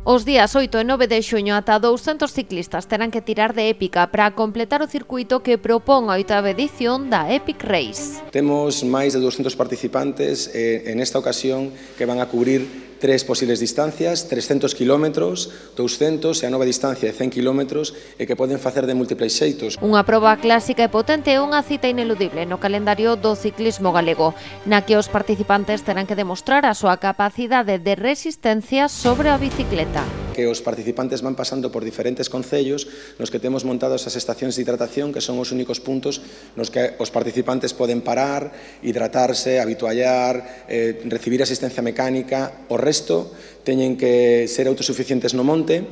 Os días 8 e 9 de xuño ata 200 ciclistas terán que tirar de épica para completar o circuito que propón a 8ª edición da Epic Race. Temos máis de 200 participantes en esta ocasión que van a cubrir 3 posibles distancias, 300 kilómetros, 200 e a nova distancia de 100 kilómetros e que poden facer de múltiples xeitos. Unha proba clásica e potente é unha cita ineludible no calendario do ciclismo galego, na que os participantes terán que demostrar a súa capacidade de resistencia sobre a bicicleta. Que os participantes van pasando por diferentes concellos nos que temos montados as estacións de hidratación, que son os únicos puntos nos que os participantes poden parar, hidratarse, habituallar, recibir asistencia mecánica. O resto teñen que ser autosuficientes no monte,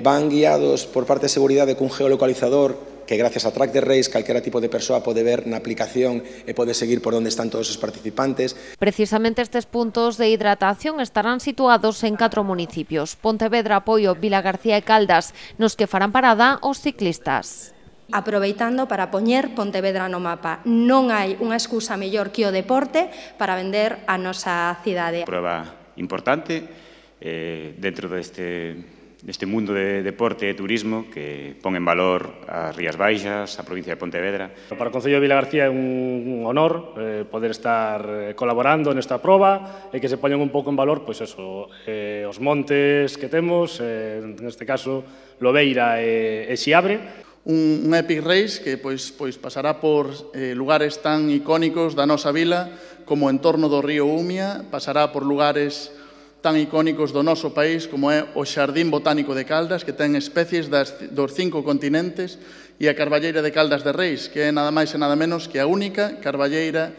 van guiados por parte de seguridade cun geolocalizador que gracias a Track the Race calquera tipo de persoa pode ver na aplicación e pode seguir por onde están todos os participantes. Precisamente estes puntos de hidratación estarán situados en 4 municipios: Pontevedra, Poio, Vilagarcía e Caldas, nos que farán parada os ciclistas. Aproveitando para poñer Pontevedra no mapa. Non hai unha excusa mellor que o deporte para vender a nosa cidade. Proba importante dentro deste mundo de deporte e turismo que pon en valor as Rías Baixas, a provincia de Pontevedra. Para o Concello de Vilagarcía é un honor poder estar colaborando nesta proba e que se poñan un pouco en valor pois eso, os montes que temos, neste caso Lobeira e Xiabre. Un Epic Race que pois pasará por lugares tan icónicos da nosa vila como o entorno do río Umia, pasará por lugares tan icónicos do noso país como é o Xardín Botánico de Caldas, que ten especies dos 5 continentes, e a Carballeira de Caldas de Reis, que é nada máis e nada menos que a única carballeira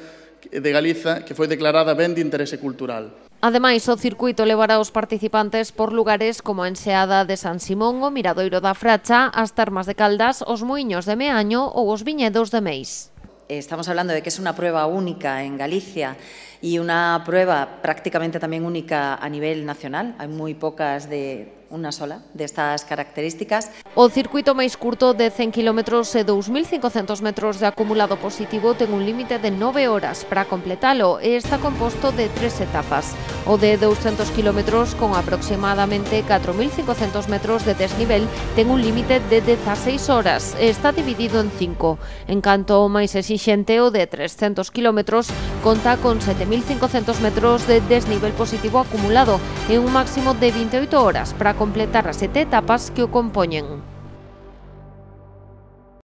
de Galiza que foi declarada ben de interese cultural. Ademais, o circuito levará os participantes por lugares como a Enseada de San Simón, o Miradoiro da Fracha, as Termas de Caldas, os Muiños de Meaño ou os Viñedos de Meis. Estamos hablando de que es una prueba única en Galicia y una prueba prácticamente también única a nivel nacional. Hay muy pocas de una sola de estas características. O circuito máis curto de 100 km e 2.500 metros de acumulado positivo ten un límite de 9 horas para completalo e está composto de 3 etapas. O de 200 km con aproximadamente 4.500 metros de desnivel ten un límite de 16 horas e está dividido en 5. En canto o máis exixente, o de 300 km conta con 7.500 metros de desnivel positivo acumulado e un máximo de 28 horas para completar as 7 etapas que o compoñen.